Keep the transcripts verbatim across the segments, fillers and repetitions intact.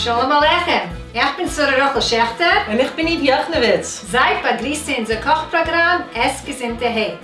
שלום עליכם, איך בין Sora Rachel Schechter. Und ich bin Yves Jachnewitz. Seid begrüßt in unser Kochprogramm Es Gesinnte Heit.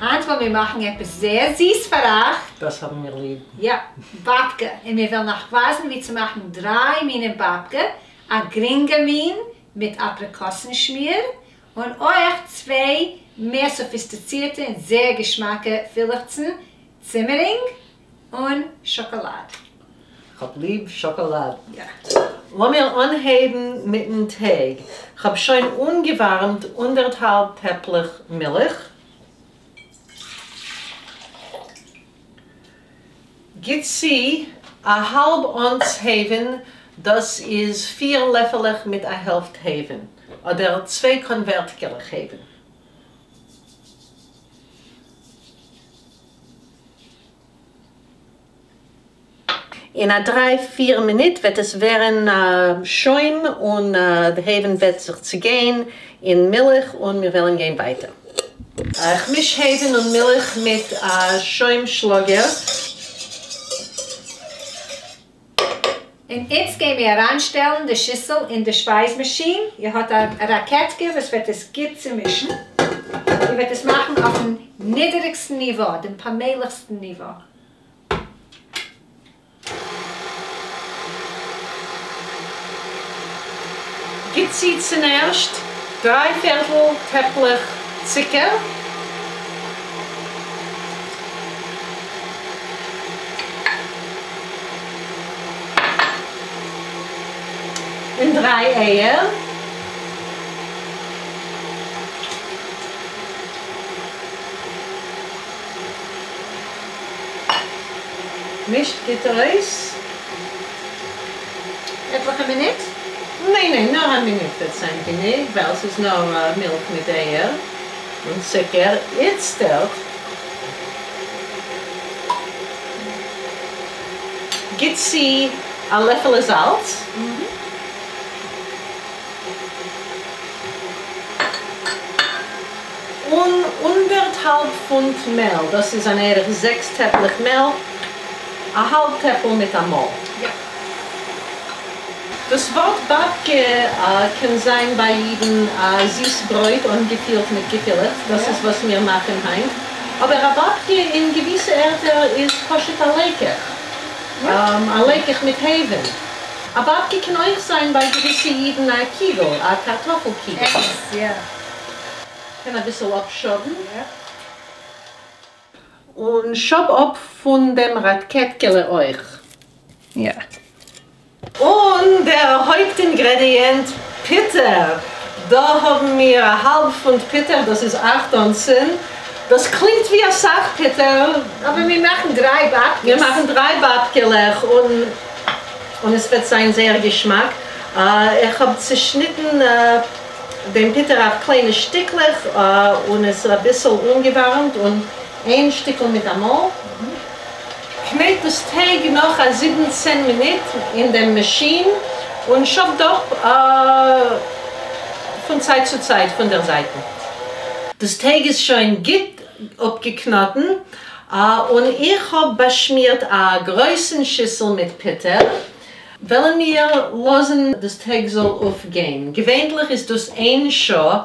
Heute wollen wir machen etwas sehr süß für euch. Das haben wir lieb. Ja, Babke. Und wir wollen nachweisen, wie zu machen drei Minen Babke. Ein geringer Min mit Aprikosenschmier und euch zwei mehr sophistizierte und sehr geschmacke Fillechzen, Zimmering und Schokolade. Ich hab lieb Schokolade. Ja. Lass mir anheben mit dem Teig. Ich hab schon ungewärmt anderthalb Tepplich Milch. Gib sie a halb Ons Heven, das ist vier Löffel mit a Hälfte Heven. Oder zwei Konvertkeller Heven. In a drei, vier Minuten wird es werden, äh, Schäum und, äh, der Heven wird sich zu gehen in Milch und wir wollen gehen weiter. Äh, ich mische Heven und Milch mit, äh, Schäumschlager. Und jetzt gehen wir heranstellen die Schüssel in die Speismaschine. Ihr habt eine Rakete, was wird es gut zu mischen. Ihr werdet es machen auf dem niedrigsten Niveau, dem pameligsten Niveau. Gibt sie zuerst drei Viertel Tepplich Zucker. Und drei Eier. Mischt geht raus. Etliche Minute? Nein, nein, nur eine Minute wird sein genug, weil es ist nur, äh, Milch mit Eier und Zucker. Jetzt dort gibt sie ein Löffel Salz. Mhm. Und anderthalb Pfund Mehl, das ist ein eher sechs Tepplich Mehl, ein halb Teppel mit einem Mehl. Ja. Das Wort Babke, äh, kann sein bei jedem, äh, Süßbräut und gefüllt mit Gefüllt. Das Ja. ist, was wir machen heim. Aber ein Babke in gewisser Erde ist kostet ein Lekech. Ja. Ähm, ein Lekech mit Heven. Ein Babke kann auch sein bei gewissen Jeden ein Kugel, ein Kartoffelkugel. Yes, ja. Kann ein bisschen abschoben. Ja. Und schob ab von dem Raketkelle euch. Ja. Und der Hauptingredient Pitter. Da haben wir ein halb Pfund Pitter, das ist acht Unzen. Das klingt wie ein Sachpitter. Aber wir machen drei Babkes. Wir machen drei Babkelech und, und es wird sein sehr Geschmack. Äh, ich habe zerschnitten, äh, den Pitter auf kleine Stückchen, äh, und es ein bisschen ungewärmt und ein Stückchen mit Amol. Knet das Teig noch a siebzehn Minuten in der Maschine und schob doch, äh, von Zeit zu Zeit von der Seite. Das Teig ist schon gut abgeknoten, äh, und ich hab beschmiert eine große Schüssel mit Pitter. Wollen wir lassen, das Teig soll aufgehen. Gewöhnlich ist das ein Schuh,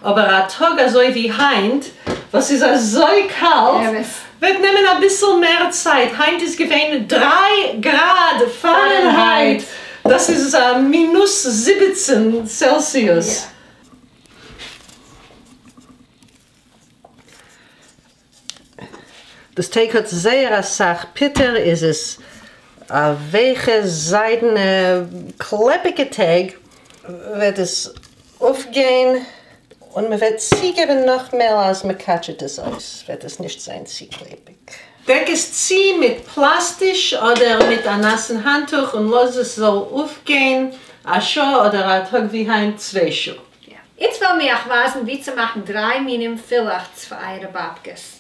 aber ein Tag so wie heint, was ist so kalt, Ja, was? wird nehmen ein bisschen mehr Zeit. Heint ist gewöhnlich drei Grad Fahrenheit. Fahrenheit. Das ist, äh, minus siebzehn Celsius. Ja. Das Teig hat sehr sach Pitter, ist es a weiche, seidene, kleppige Teig. Wird es aufgehen und man wird sicher noch mehr als man catcht es aus. Wird es nicht sein, zu kleppig. Deck es sie mit Plastisch oder mit einem nassen Handtuch und lass es so aufgehen. A Schuh oder a Tag wie heim, zwei Schuhe. Ja. Jetzt wollen wir auch wissen, wie zu machen drei Minen Fillachs für eure Babkes.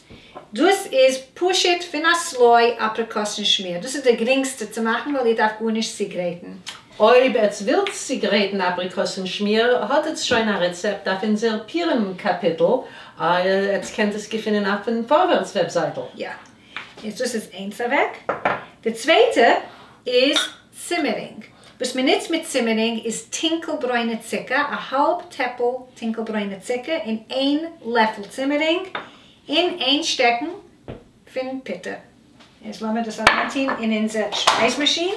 Das ist Pushit Finasloi Aprikosenschmier. Das ist der geringste zu machen, weil ihr darf gut nicht Zigaretten. Ob es wild Zigaretten Aprikosenschmier, hat es schon ein Rezept auf unserem Piren-Kapitel. Äh, jetzt könnt ihr es gefunden auf der Vorwärts-Webseite. Ja, jetzt ist es eins weg. Der zweite ist Zimmering. וואס מען ניצט מיט צימערינג איז טונקל-ברוינע צוקער, א האלב טעפל טונקל-ברוינע צוקער און איין לעפל צימערינג און איין שטעקן פון פוטער. יעצט לאמיר דאס אריינטון אין אונזער שפייז מאשין.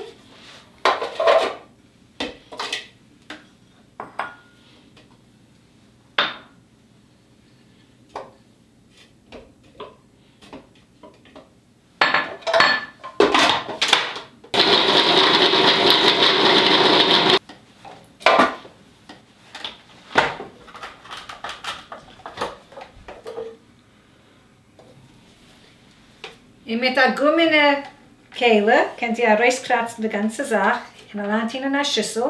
און מיט א גומענע כלי קענט איר ארויסקראצן די גאנצע זאך און אריינטון אין א שיסל.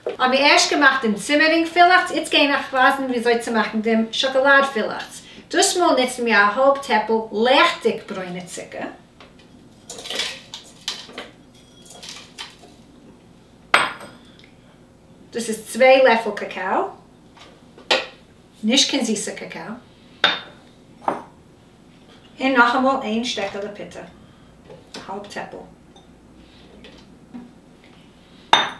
האבן מיר ערשט געמאכט דעם צימערינג פילעכץ, איצט גיי איך ווייזן וויאזוי צו מאכן דעם שאקאלאד פילעכץ. דאס מאל נוצן מיר א האלב טעפל לעכטיג ברוינע צוקער. דאס איז צוויי לעפל קאקאו, נישט קיין זיסע קאקאו. און נאכאמאל איין שטעקעלע פוטער, א האלב טעפל.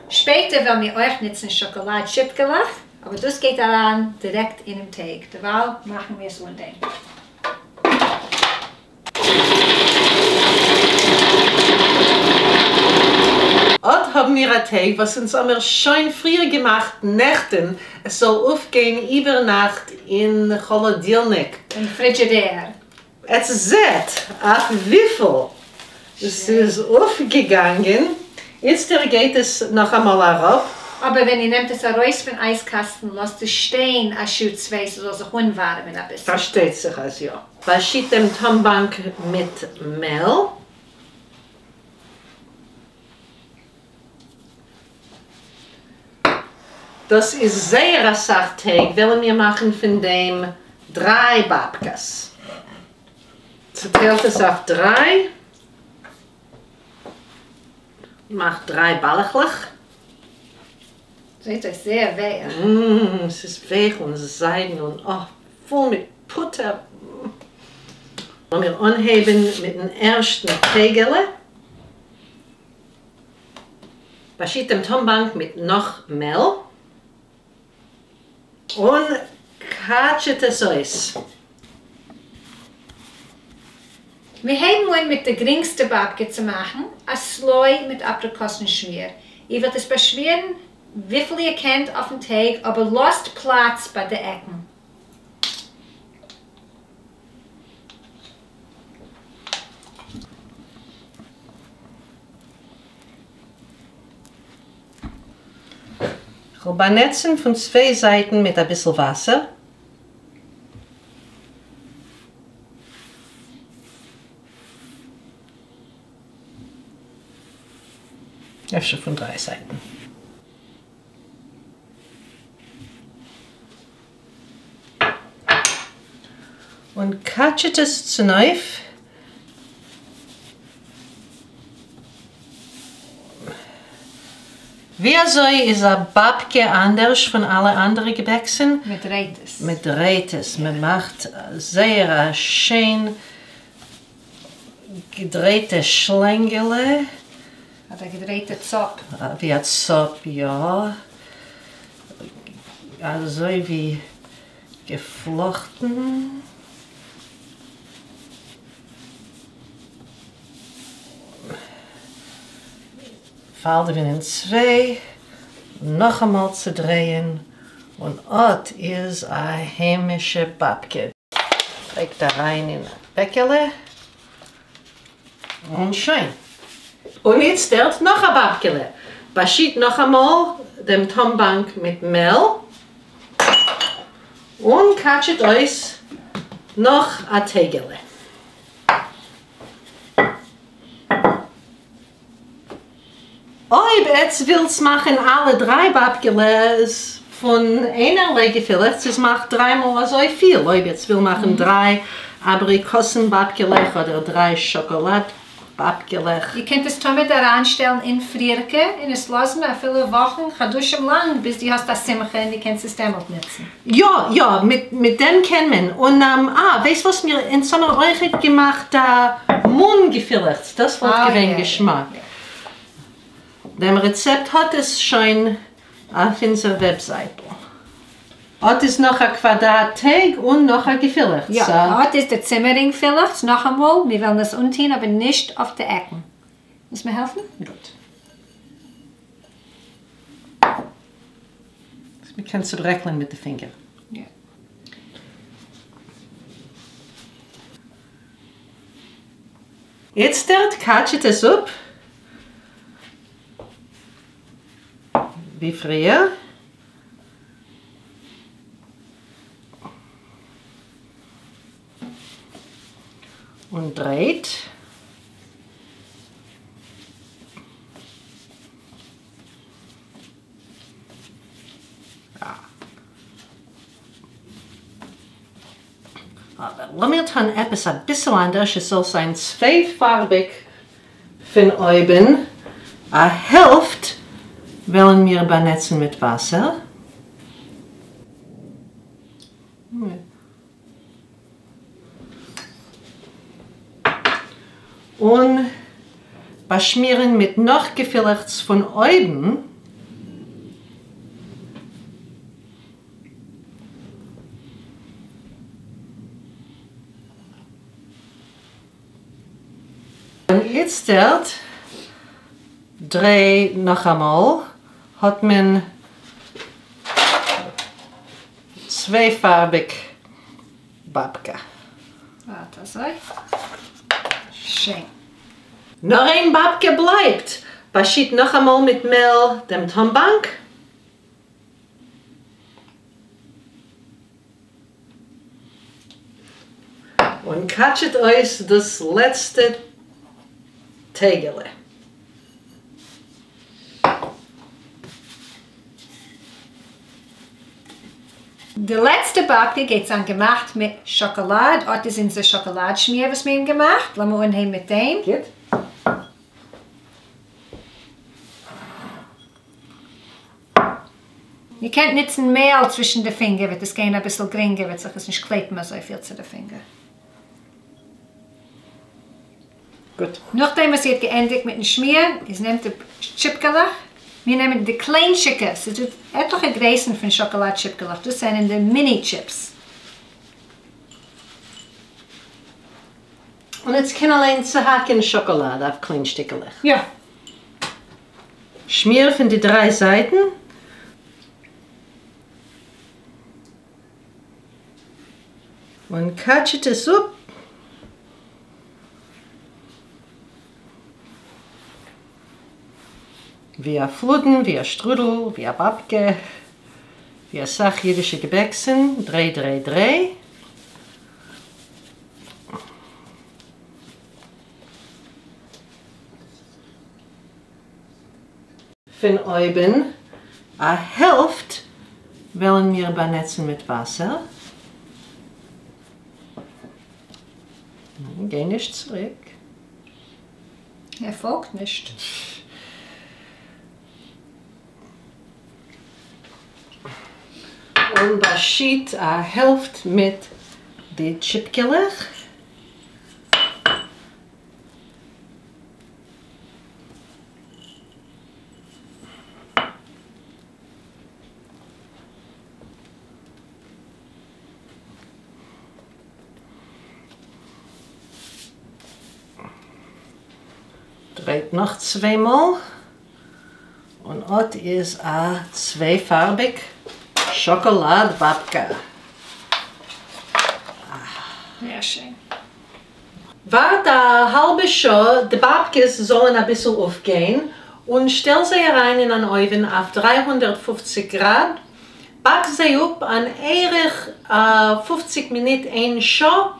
שפעטער וועלן מיר אויך נוצן שאקאלאד שיפקעלעך, אבער דאס גייט אריין דירעקט אינעם טייג, דערווייל מאכן מיר עס אן דעם. אט האבן מיר א טייג וואס אונז האמיר שוין פריער געמאכט נעכטן, עס זאל אויפגיין איבערנאכט אין כאלאדילניק. אין פרידזשידער. עטס זעט אויף וויפיל ס'איז אויפגעגאנגען, איצטער גייט עס נאכאמאל אראפ. אבער ווען איר נעמט עס ארויס פון אייז קאסטן לאזט עס שטיין א שעה צוויי ס'זאל זיך אנווארעמען אביסל. פארשטייט זיך אז יא. באשיט דעם טאמבאנק מיט מעל. דאס איז זייער אסאך טייג, וועלן מיר מאכן פון דעם דריי באבקעס. צוטיילט עס אויף דריי. מאכט דריי באלעכלעך. זעט אויס זייער ווייך. Mm, עס איז ווייך און זיידן און oh, פול מיט פוטער. לאמיר אנהייבן מיטן ערשטן טייגעלע. באשיט דעם טאמבאנק מיט נאך מעל. און קאטשעט עס אויס. מיר הייבן אן מיט די גרינגסטע באבקע צו מאכן, א סלוי מיט אפריקאסן שמיר. איר וועט עס באשמירן וויפיל איר קענט אויפן טייג, אבער לאזט פלאץ ביי די עקן. כ'וועל באנעצן פון צוויי זייטן מיט אביסל וואסער. אפשר פון דריי זייטן. און קאטשעט עס צונויף. ווי אזוי איז א באבקע אנדערש פון אלע אנדערע געבעקסן? מען דרייט עס. מען דרייט עס, מען מאכט זייער א שיין געדרייטע שלענגעלע. אדער געדרייטע צאפ. ווי א צאפ, יא. אזוי ווי געפלאכטן. פאלדעווען אין צוויי, נאכאמאל צודרייען, און אט איז א היימישע באבקע. לייגט אריין אין א בעקעלע, און שוין. און איצטערט נאך א באבקעלע. באשיט נאכאמאל דעם טאמבאנק מיט מעל, און קאטשעט אויס נאך א טייגעלע. אויב עטס ווילטס מאכן אלע דריי באבקעלעס פון איינערליי געפילעכץ, איז מאכט דריי מאל אזוי פיל. אויב עטס וויל מאכן דריי אבריקאסן באבקעלעך אדער דריי שאקאלאד באבקעלעך. איר קענט עס תמיד אריינשטעלן אין פרירקע און עס לאזן אפילו וואכן, חדשים לאנג ביז דו האסט א שמחה און דו קענסט עס דעמאלט נוצן. יא יא, מיט מיט דעם קען מען. און אה, ווייסט וואס מיר אונז האמיר אויכעט געמאכט א מון-געפֿילעכץ, דאָס וואָלט אָ, געווען יאָ, געשמאַק. דעם רעצעפּט האָט עס שוין אויף אונדזער וועבזײַטל. אָט איז נאָך אַ קוואַדראַט טייג און נאָך אַ געפֿילעכץ. יאָ, אָט איז דער צימערינג-פֿילעכץ. נאָך אַ מאָל, מיר וועלן עס אָנטאָן, אָבער נישט אויף די עקן. ווילסט מיר העלפֿן? גוט. מע קען צעברעקלען מיט די פֿינגער. יאָ. איצטערט קאַטשעט עס אָפּ, ווי פֿריִער. און דרייט. אָבער לאָמיר טאָן עפּעס אַ ביסל אַנדערש, עס זאָל זײַן צווייפֿאַרביק פֿון אויבן. אַ העלפֿט וועלן מיר באַנעצן מיט וואַסער. און באַשמירן מיט נאָך געפֿילעכץ פֿון אויבן. און איצטערט, דריי נאָך אַ מאָל, האָט מען צווייפֿאַרביק באַבקע. וואַרט אַזוי. שיין. נאָר איין באַבקע בלײַבט. באַשיט נאָך אַ מאָל מיט מעל דעם טאָנבאַנק. און קאַטשעט אויס דאָס לעצטע טייגעלע. די לעצטע באַבקע גייט זײַן געמאַכט מיט שאָקאָלאַד. אָט איז אונדזער שאָקאָלאַד-שמיר, וואָס מיר האָבן געמאַכט. לאָמיר אָנהייבן מיט דעם. גוט. איר קענט ניצן מעל צווישן די פֿינגער, וועט עס גיין אַ ביסל גרינגער, וועט זיך עס נישט קלעפּן אַזוי פֿיל צו די פֿינגער. גוט. נאָך דעם, וואָס איר האָט געענדיקט מיטן שמיר, איז נעמט די טשיפּקעלעך. מיר נעמען די קליינטשיקע. ס'איז דאָ עטלעכע גרייסן פֿון שאָקאָלאַד-טשיפּקעלעך. דאָס זענען די מיני-טשיפּס. און עץ קען אַליין צעהאַקן שאָקאָלאַד אויף קליין שטיקעלעך. יאָ. שמיר פֿון די דרײַ זײַטן. און קאַטשעט עס אָפּ. ווי אַ פֿלודן, ווי אַ שטרודל, ווי אַ באַבקע, ווי אַ סך ייִדישע געבעקסן. דריי, דריי, דריי. פֿון אויבן אַ העלפֿט וועלן מיר באַנעצן מיט וואַסער. גיי נישט צוריק. ער פֿאָלגט נישט. און באַשיט אַ העלפֿט מיט די טשיפּקעלעך. דרייט נאָך צוויי מאָל. און אָט איז אַ צווייפֿאַרביק שאָקאָלאַד-באַבקע. זייער שיין. וואַרט אַ האַלבע שעה, די באַבקעס זאָלן אַ ביסל אויפֿגיין און שטעל זיי אַרײַן אין אַן אויוון אויף דרײַ הונדערט פֿופֿציק גראַד. באַק זיי אָפּ אַן ערך פֿופֿציק מינוט איין שעה.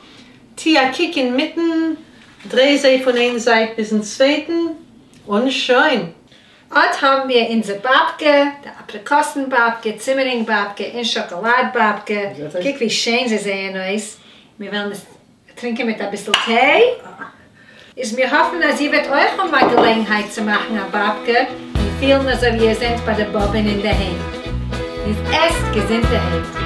טו אַ קוק אין מיטן, דריי זיי פֿון איין זײַט ביזן צווייטן און שוין. אָט האָבן מיר אונדזער באַבקע, די אַפּריקאָסן-באַבקע, צימערינג-באַבקע און שאָקאָלאַד-באַבקע. קוק ווי שיין זיי זעען אויס. מיר וועלן עס טרינקען מיט אַ ביסל טיי. איז מיר האָפֿן, אַז איר וועט אויך האָבן אַ געלעגנהייט צו מאַכן אַ באַבקע און פֿילן, אַזוי ווי איר זענט בײַ דער באָבען אין דער היים. איז עסט געזונטערהייט.